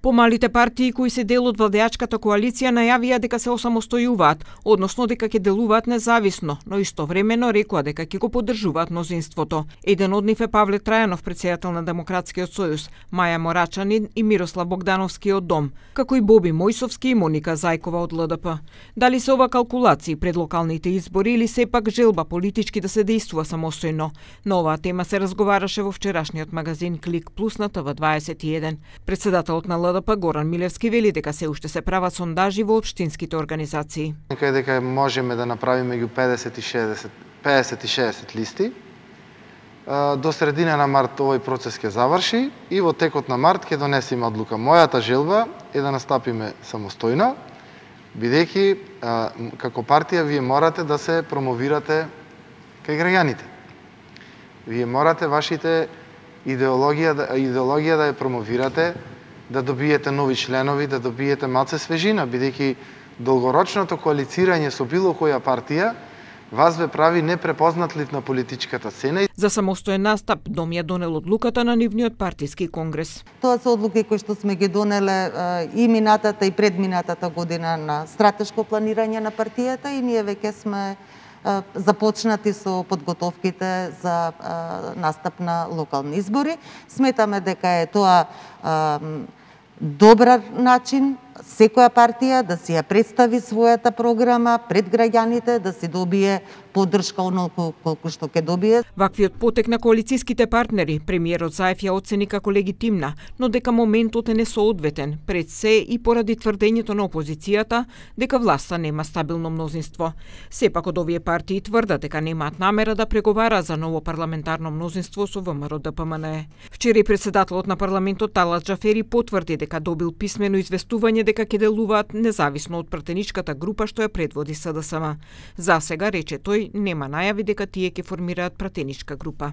Помалите партии кои се дел од владеачката коалиција најавија дека се осамостојуваат, односно дека ќе делуваат независно, но истовремено рекоа дека ќе го поддржуваат мнозинството. Еден од нив е Павле Трајанов, претседател на Демократскиот сојуз, Маја Морачанин и Мирослав Богдановски од ДОМ, како и Боби Мојсовски и Моника Зајкова од ЛДП. Дали се ова калкулации пред локалните избори или сепак желба политички да се действува самостојно? На оваа тема се разговараше во вчерашниот магазин Клик Плюс на ТВ21. Председателот на ЛДП Горан Милевски вели дека се уште се прават сондажи во општинските организации. Дека можеме да направиме меѓу 50 и 60 листи. До средина на март овој процес ќе заврши и во текот на март ќе донесеме одлука. Мојата желба е да настапиме самостојно, бидејќи како партија вие морате да се промовирате кај граѓаните. Вие морате вашите идеологија да ја промовирате, да добиете нови членови, да добиете малце свежина, бидејќи долгорочното коалицирање со било која партија вас ве прави непрепознатлив на политичката сцена. За самостоен настап ДОМ ја донел одлуката на нивниот партиски конгрес. Тоа се одлуки кои што сме ги донеле и минатата и предминатата година на стратешко планирање на партијата и ние веќе сме започнати со подготовките за настап на локални избори. Сметаме дека е тоа добар начин секоја партија да си ја представи својата програма пред граѓаните, да си добие поддршка онолку колку што ќе добие. Ваквиот потек на коалициските партнери премиерот Заев ја оцени како легитимна, но дека моментот е несоодветен, пред се и поради тврдењето на опозицијата дека власта нема стабилно мнозинство. Сепак од овие партии тврдат дека немаат намера да преговара за ново парламентарно мнозинство со ВМРО-ДПМНЕ. Вчера и председателот на парламентот Талат Џафери потврди дека добил писмено известување дека ќе делуваат независно од пратеничката група што ја предводи СДСМ. За сега, рече тој, нема најави дека тие ќе формираат пратеничка група.